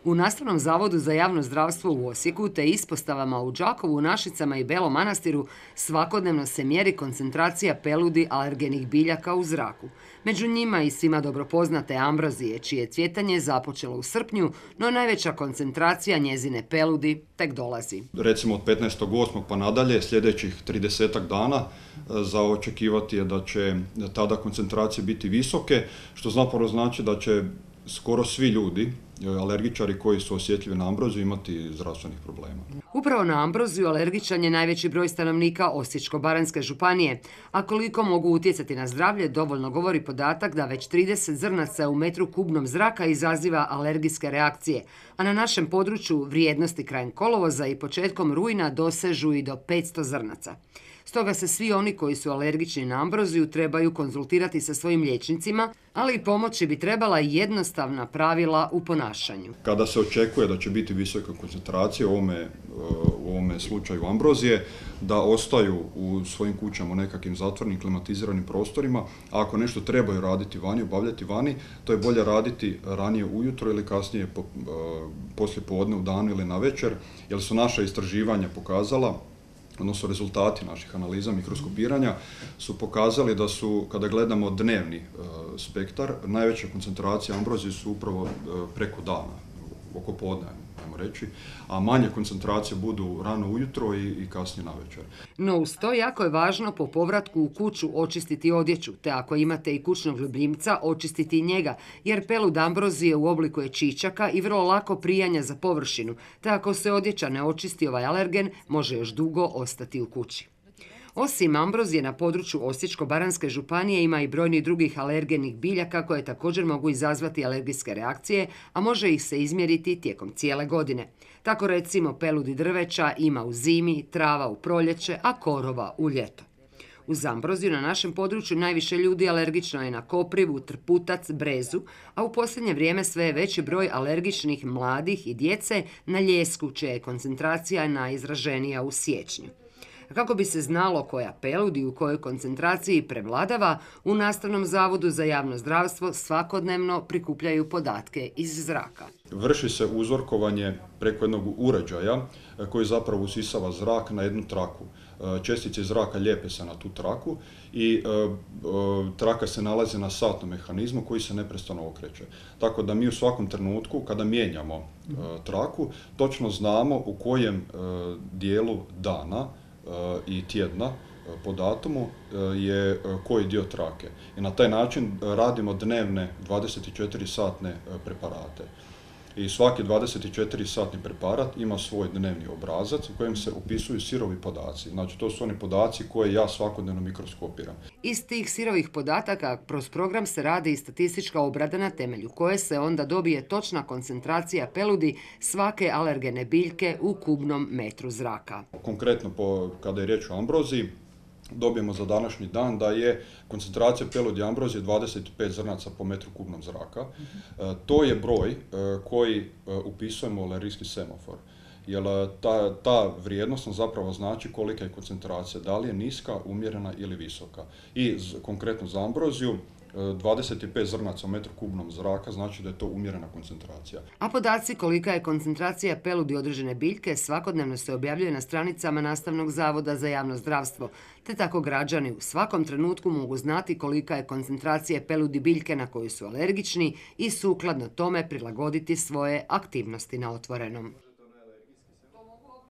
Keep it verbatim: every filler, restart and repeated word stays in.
U Nastavnom zavodu za javno zdravstvo u Osijeku te ispostavama u Đakovu, Našicama i Belom Manastiru svakodnevno se mjeri koncentracija peludi alergenih biljaka u zraku. Među njima i svima dobro poznate ambrozije, čije cvjetanje započelo u srpnju, no najveća koncentracija njezine peludi tek dolazi. Recimo od petnaestog osmog pa nadalje, sljedećih tridesetak dana, za očekivati je da će tada koncentracije biti visoke, što zapravo znači da će skoro svi ljudi, alergičari koji su osjetljivi na ambroziju, imati zdravstvenih problema. Upravo na ambroziju alergičan je najveći broj stanovnika Osječko-baranjske županije, a koliko mogu utjecati na zdravlje dovoljno govori podatak da već trideset zrnaca u metru kubnom zraka izaziva alergijske reakcije, a na našem području vrijednosti krajem kolovoza i početkom rujna dosežu i do petsto zrnaca. Stoga se svi oni koji su alergični na ambroziju trebaju konzultirati sa svojim liječnicima, ali i pomoći bi trebala jednostavna pravila u ponašanju. Kada se očekuje da će biti visoka koncentracija, u ovome, u ovome slučaju ambrozije, da ostaju u svojim kućama u nekakvim zatvorenim klimatiziranim prostorima, a ako nešto trebaju raditi vani, obavljati vani, to je bolje raditi ranije ujutro ili kasnije po, poslije podne u danu ili na večer, jer su naša istraživanja pokazala, odnosno rezultati naših analiza mikroskopiranja su pokazali da su, kada gledamo dnevni e, spektar, najveća koncentracija ambrozije su upravo e, preko dana, oko podne, ajmo reći, a manje koncentracije budu rano ujutro i, i kasnije na večer. No uz to jako je važno po povratku u kuću očistiti odjeću, te ako imate i kućnog ljubimca, očistiti i njega, jer pelud ambrozije u obliku je čičaka i vrlo lako prijanja za površinu, te ako se odjeća ne očisti ovaj alergen, može još dugo ostati u kući. Osim ambrozije na području Osječko-baranjske županije ima i brojnih drugih alergenih biljaka koje također mogu izazvati alergijske reakcije, a može ih se izmjeriti tijekom cijele godine. Tako recimo peludi drveća ima u zimi, trava u proljeće, a korova u ljeto. Uz ambroziju na našem području najviše ljudi alergično je na koprivu, trputac, brezu, a u posljednje vrijeme sve je veći broj alergičnih mladih i djece na ljesku, čija je koncentracija najizraženija u siječnju. Kako bi se znalo koja peludi u kojoj koncentraciji prevladava, u Nastavnom zavodu za javno zdravstvo svakodnevno prikupljaju podatke iz zraka. Vrši se uzorkovanje preko jednog uređaja koji zapravo usisava zrak na jednu traku. Čestice zraka lijepe se na tu traku i traka se nalazi na satnom mehanizmu koji se neprestano okreće. Tako da mi u svakom trenutku kada mijenjamo traku točno znamo u kojem dijelu dana i tjedna po datumu je koji dio trake. I na taj način radimo dnevne dvadeset četiri satne preparate. I svaki dvadeset četiri satni preparat ima svoj dnevni obrazac u kojem se upisuju sirovi podaci. Znači, to su oni podaci koje ja svakodnevno mikroskopiram. Iz tih sirovih podataka kroz program se radi i statistička obrada na temelju koje se onda dobije točna koncentracija peludi svake alergene biljke u kubnom metru zraka. Konkretno, po, kada je riječ o ambroziji, dobijemo za današnji dan da je koncentracija peludi ambrozije dvadeset pet zrnaca po metru kubnom zraka. E, to je broj e, koji e, upisujemo u alergijski semafor. Jer ta, ta vrijednost nam zapravo znači kolika je koncentracija, da li je niska, umjerena ili visoka. I z, konkretno za ambroziju, dvadeset pet zrnaca u metru kubnom zraka znači da je to umjerena koncentracija. A podaci kolika je koncentracija peludi određene biljke svakodnevno se objavljuje na stranicama Nastavnog zavoda za javno zdravstvo, te tako građani u svakom trenutku mogu znati kolika je koncentracija peludi biljke na koju su alergični i sukladno tome prilagoditi svoje aktivnosti na otvorenom.